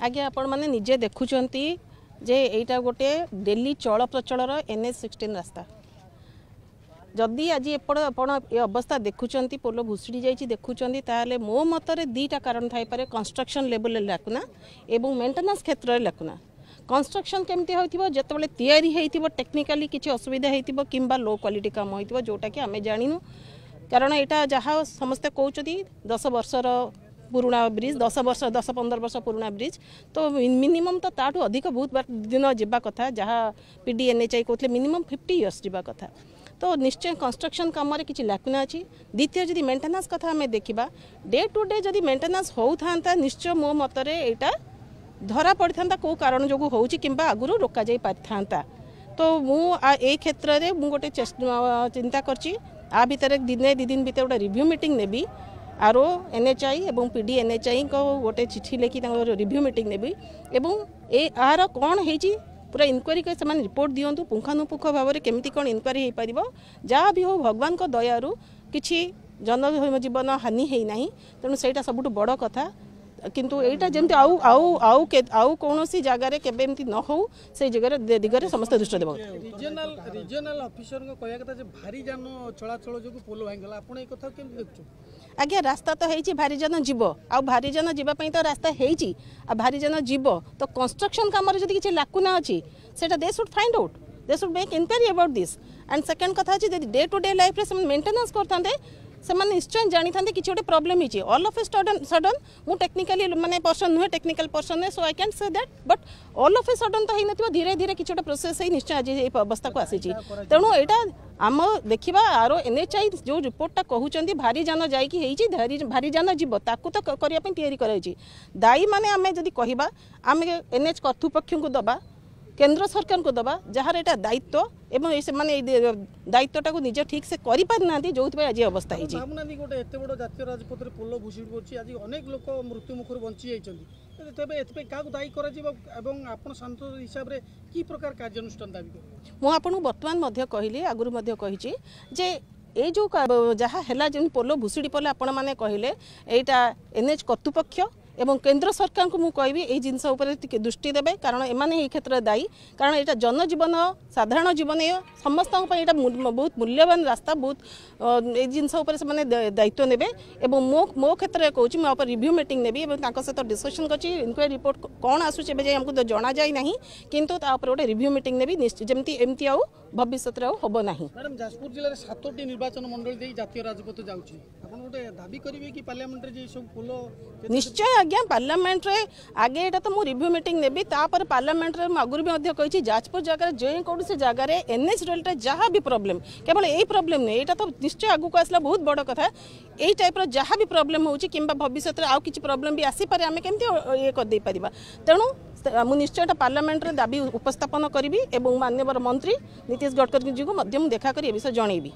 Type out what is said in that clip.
ଆଜ୍ଞା, ଆପଣମାନେ ନିଜେ ଦେଖୁଛନ୍ତି ଯେ ଏଇଟା ଗୋଟେ ଡେଲି ଚଳପ୍ରଚଳର NH 16 ରାସ୍ତା। ଯଦି ଆଜି ଏପଟ ଆପଣ ଏ ଅବସ୍ଥା ଦେଖୁଛନ୍ତି, ପୋଲ ଭୁଷୁଡ଼ି ଯାଇଛି ଦେଖୁଛନ୍ତି, ତାହେଲେ ମୋ ମତରେ ଦୁଇଟା କାରଣ ଥାଇପାରେ: କନଷ୍ଟ୍ରକ୍ସନ୍ ଲେବୁଲରେ ଲାକୁନା ଏବଂ ମେଣ୍ଟେନାନ୍ସ କ୍ଷେତ୍ରରେ ଲାକୁନା। କନଷ୍ଟ୍ରକ୍ସନ୍ କେମିତି ହେଉଥିବ? ଯେତେବେଳେ ତିଆରି ହେଇଥିବ, ଟେକ୍ନିକାଲି କିଛି ଅସୁବିଧା ହେଇଥିବ କିମ୍ବା ଲୋ କ୍ୱାଲିଟି କାମ ହେଇଥିବ, ଯେଉଁଟାକି ଆମେ ଜାଣିନୁ। କାରଣ ଏଇଟା ଯାହା ସମସ୍ତେ କହୁଛନ୍ତି 10 ବର୍ଷର ପୁରୁଣା ବ୍ରିଜ୍, 10 ବର୍ଷ, 10-15 ବର୍ଷ ପୁରୁଣା ବ୍ରିଜ୍। ତ ମିନିମମ୍ ତ ତାଠୁ ଅଧିକ ବହୁତ ଦିନ ଯିବା କଥା। ଯାହା ପିଡି ଏନ୍ଏଚ୍ଆଇ କହୁଥିଲେ, ମିନିମମ୍ 50 ଇୟର୍ସ ଯିବା କଥା। ତ ନିଶ୍ଚୟ କନଷ୍ଟ୍ରକ୍ସନ୍ କାମରେ କିଛି ଲାକୁନା ଅଛି। ଦ୍ୱିତୀୟ, ଯଦି ମେଣ୍ଟେନାନ୍ସ କଥା ଆମେ ଦେଖିବା, ଡେ ଟୁ ଡେ ଯଦି ମେଣ୍ଟେନାନ୍ସ ହେଉଥାନ୍ତା, ନିଶ୍ଚୟ ମୋ ମତରେ ଏଇଟା ଧରା ପଡ଼ିଥାନ୍ତା କେଉଁ କାରଣ ଯୋଗୁଁ ହେଉଛି କିମ୍ବା ଆଗରୁ ରୋକାଯାଇ ପାରିଥାନ୍ତା। ତ ମୁଁ ଏଇ କ୍ଷେତ୍ରରେ ମୁଁ ଗୋଟେ ଚିନ୍ତା କରିଛି, ଆ ଭିତରେ ଦିନେ 2 ଦିନ ଭିତରେ ଗୋଟେ ରିଭ୍ୟୁ ମିଟିଂ ନେବି। ଆର୍ ଓ ଏନ୍ଏଚ୍ଆଇ ଏବଂ ପିଡି ଏନ୍ଏଚ୍ଆଇଙ୍କ ଗୋଟେ ଚିଠି ଲେଖି ତାଙ୍କର ରିଭ୍ୟୁ ମିଟିଂ ନେବି ଏବଂ ଏ ଆର କ'ଣ ହେଇଛି ପୁରା ଇନକ୍ୱାରି କରି ସେମାନେ ରିପୋର୍ଟ ଦିଅନ୍ତୁ। ପୁଙ୍ଖାନୁପୁଙ୍ଖ ଭାବରେ କେମିତି କ'ଣ ଇନକ୍ୱାରି ହେଇପାରିବ। ଯାହା ବି ହଉ, ଭଗବାନଙ୍କ ଦୟାରୁ କିଛି ଜନଜୀବନ ହାନି ହେଇନାହିଁ, ତେଣୁ ସେଇଟା ସବୁଠୁ ବଡ଼ କଥା। କିନ୍ତୁ ଏଇଟା ଯେମିତି ଆଉ ଆଉ ଆଉ ଆଉ କୌଣସି ଜାଗାରେ କେବେ ଏମିତି ନ ହଉ, ସେଇ ଜାଗାରେ ଦିଗରେ ସମସ୍ତେ ଦୃଷ୍ଟି ଦେବ। ରିଜିଓନାଲ ଅଫିସରଙ୍କ କହିବା କଥା ଯେ ଭାରି ଯାନ ଚଳାଚଳ ଯୋଗୁଁ ପୋଲ ଭାଙ୍ଗିଗଲା। ଆପଣ ଏଇ କଥା କେମିତି ଦେଖୁଛନ୍ତି? ଆଜ୍ଞା, ରାସ୍ତା ତ ହେଇଛି, ଭାରି ଯାନ ଯିବ। ଆଉ ଭାରି ଯାନ ଯିବା ପାଇଁ ତ ରାସ୍ତା ହେଇଛି, ଆଉ ଭାରି ଯାନ ଯିବ। ତ କନଷ୍ଟ୍ରକ୍ସନ୍ କାମରେ ଯଦି କିଛି ଲାକୁନା ଅଛି, ସେଇଟା they should find out, they should make inquiry about this. And second କଥା ଅଛି, ଯଦି ଡେ ଟୁ ଡେ ଲାଇଫ୍ରେ ସେମାନେ ମେଣ୍ଟେନାନ୍ସ କରିଥାନ୍ତେ, ସେମାନେ ନିଶ୍ଚୟ ଜାଣିଥାନ୍ତେ କିଛି ଗୋଟେ ପ୍ରୋବ୍ଲେମ୍ ହେଇଛି। ଅଲ୍ ଅଫ୍ ଏ ସଡନ୍, ମୁଁ ଟେକ୍ନିକାଲି ମାନେ ପର୍ସନ୍ ନୁହେଁ, ଟେକ୍ନିକାଲ ପର୍ସନ୍ ନୁହେଁ, so I can say that, but all of A sudden ତ ହେଇନଥିବ। ଧୀରେ ଧୀରେ କିଛି ଗୋଟେ ପ୍ରୋସେସ୍ ହେଇ ନିଶ୍ଚୟ ଆଜି ଏଇ ଅବସ୍ଥାକୁ ଆସିଛି। ତେଣୁ ଏଇଟା ଆମ ଦେଖିବା। ଆର ଏନ୍ଏଚ୍ଆଇ ଯେଉଁ ରିପୋର୍ଟଟା କହୁଛନ୍ତି ଭାରି ଯାନ ଯାଇକି ହେଇଛି, ଭାରି ଯାନ ଯିବ, ତାକୁ ତ କରିବା ପାଇଁ ତିଆରି କରାଯାଇଛି। ଦାୟୀ ମାନେ ଆମେ ଯଦି କହିବା, ଆମେ ଏନ୍ଏଚ୍ କର୍ତ୍ତୃପକ୍ଷଙ୍କୁ ଦେବା, କେନ୍ଦ୍ର ସରକାରଙ୍କୁ ଦେବା, ଯାହାର ଏଇଟା ଦାୟିତ୍ୱ ଏବଂ ଏଇ ସେମାନେ ଏଇ ଦାୟିତ୍ୱଟାକୁ ନିଜେ ଠିକ୍ ସେ କରିପାରିନାହାନ୍ତି, ଯେଉଁଥିପାଇଁ ଆଜି ଅବସ୍ଥା ହେଇଛି। ଭାବୁନାହାନ୍ତି, ଗୋଟେ ଏତେ ବଡ଼ ଜାତୀୟ ରାଜପଥରେ ପୋଲ ଭୁଶୁଡ଼ି ପଡୁଛି, ଆଜି ଅନେକ ଲୋକ ମୃତ୍ୟୁ ମୁଖରୁ ବଞ୍ଚି ଯାଇଛନ୍ତି, ତେବେ ଏଥିପାଇଁ କାହାକୁ ଦାୟୀ କରାଯିବ ଏବଂ ଆପଣ ସାଂସଦ ହିସାବରେ କି ପ୍ରକାର କାର୍ଯ୍ୟାନୁଷ୍ଠାନ ଦାବି କରିବେ? ମୁଁ ଆପଣଙ୍କୁ ବର୍ତ୍ତମାନ ମଧ୍ୟ କହିଲି, ଆଗରୁ ମଧ୍ୟ କହିଛି ଯେ ଏଇ ଯେଉଁ ଯାହା ହେଲା, ଯେମିତି ପୋଲ ଭୁଶୁଡ଼ି ପଡ଼ିଲା ଆପଣମାନେ କହିଲେ, ଏଇଟା ଏନ୍ଏଚ୍ କର୍ତ୍ତୃପକ୍ଷ ଏବଂ କେନ୍ଦ୍ର ସରକାରଙ୍କୁ ମୁଁ କହିବି ଏଇ ଜିନିଷ ଉପରେ ଟିକେ ଦୃଷ୍ଟି ଦେବେ, କାରଣ ଏମାନେ ଏଇ କ୍ଷେତ୍ରରେ ଦାୟୀ। କାରଣ ଏଇଟା ଜନଜୀବନ, ସାଧାରଣ ଜୀବନ, ସମସ୍ତଙ୍କ ପାଇଁ ଏଇଟା ବହୁତ ମୂଲ୍ୟବାନ ରାସ୍ତା। ବହୁତ ଏଇ ଜିନିଷ ଉପରେ ସେମାନେ ଦାୟିତ୍ୱ ନେବେ। ଏବଂ ମୋ କ୍ଷେତ୍ରରେ କହୁଛି, ମୁଁ ଉପରେ ରିଭ୍ୟୁ ମିଟିଂ ନେବି ଏବଂ ତାଙ୍କ ସହିତ ଡିସ୍କସନ୍ କରିଛି। ଇନକ୍ୱାରି ରିପୋର୍ଟ କ'ଣ ଆସୁଛି ଏବେ ଯାଇ ଆମକୁ ତ ଜଣାଯାଇ ନାହିଁ, କିନ୍ତୁ ତା ଉପରେ ଗୋଟେ ରିଭ୍ୟୁ ମିଟିଂ ନେବି, ଯେମିତି ଏମିତି ଆଉ ଭବିଷ୍ୟତରେ ଆଉ ହେବ ନାହିଁ। ମ୍ୟାଡ଼ାମ୍, ଯାଜପୁର ଜିଲ୍ଲାରେ ସାତୋଟି ନିର୍ବାଚନ ମଣ୍ଡଳୀ ଦେଇ ଜାତୀୟ ରାଜପଥ ଯାଉଛି। ଆପଣ ଗୋଟେ ଦାବି କରିବେ କି ପାର୍ଲାମେଣ୍ଟରେ ଯେ ସବୁ ପୋଲ ନିଶ୍ଚୟ ଆଜ୍ଞା, ପାର୍ଲାମେଣ୍ଟରେ ଆଗେ ଏଇଟା ତ ମୁଁ ରିଭ୍ୟୁ ମିଟିଂ ନେବି, ତାପରେ ପାର୍ଲାମେଣ୍ଟରେ ମୁଁ ଆଗରୁ ବି ମଧ୍ୟ କହିଛି, ଯାଜପୁର ଜାଗାରେ ଯେକୌଣସି ଜାଗାରେ ଏନ୍ଏଚ୍ ରିଲେଟେଡ୍ ଯାହା ବି ପ୍ରୋବ୍ଲେମ୍, କେବଳ ଏଇ ପ୍ରୋବ୍ଲେମ୍ ନୁହେଁ, ଏଇଟା ତ ନିଶ୍ଚୟ ଆଗକୁ ଆସିଲା ବହୁତ ବଡ଼ କଥା, ଏଇ ଟାଇପ୍ର ଯାହା ବି ପ୍ରୋବ୍ଲେମ୍ ହେଉଛି କିମ୍ବା ଭବିଷ୍ୟତରେ ଆଉ କିଛି ପ୍ରୋବ୍ଲେମ୍ ବି ଆସିପାରେ, ଆମେ କେମିତି ଇଏ କରିଦେଇପାରିବା। ତେଣୁ ମୁଁ ନିଶ୍ଚୟ ଏଇଟା ପାର୍ଲାମେଣ୍ଟରେ ଦାବି ଉପସ୍ଥାପନ କରିବି ଏବଂ ମାନ୍ୟବର ମନ୍ତ୍ରୀ ନୀତିଶ ଗଡ଼କରୀଜୀଙ୍କୁ ମଧ୍ୟ ମୁଁ ଦେଖା କରି ଏ ବିଷୟ ଜଣେଇବି।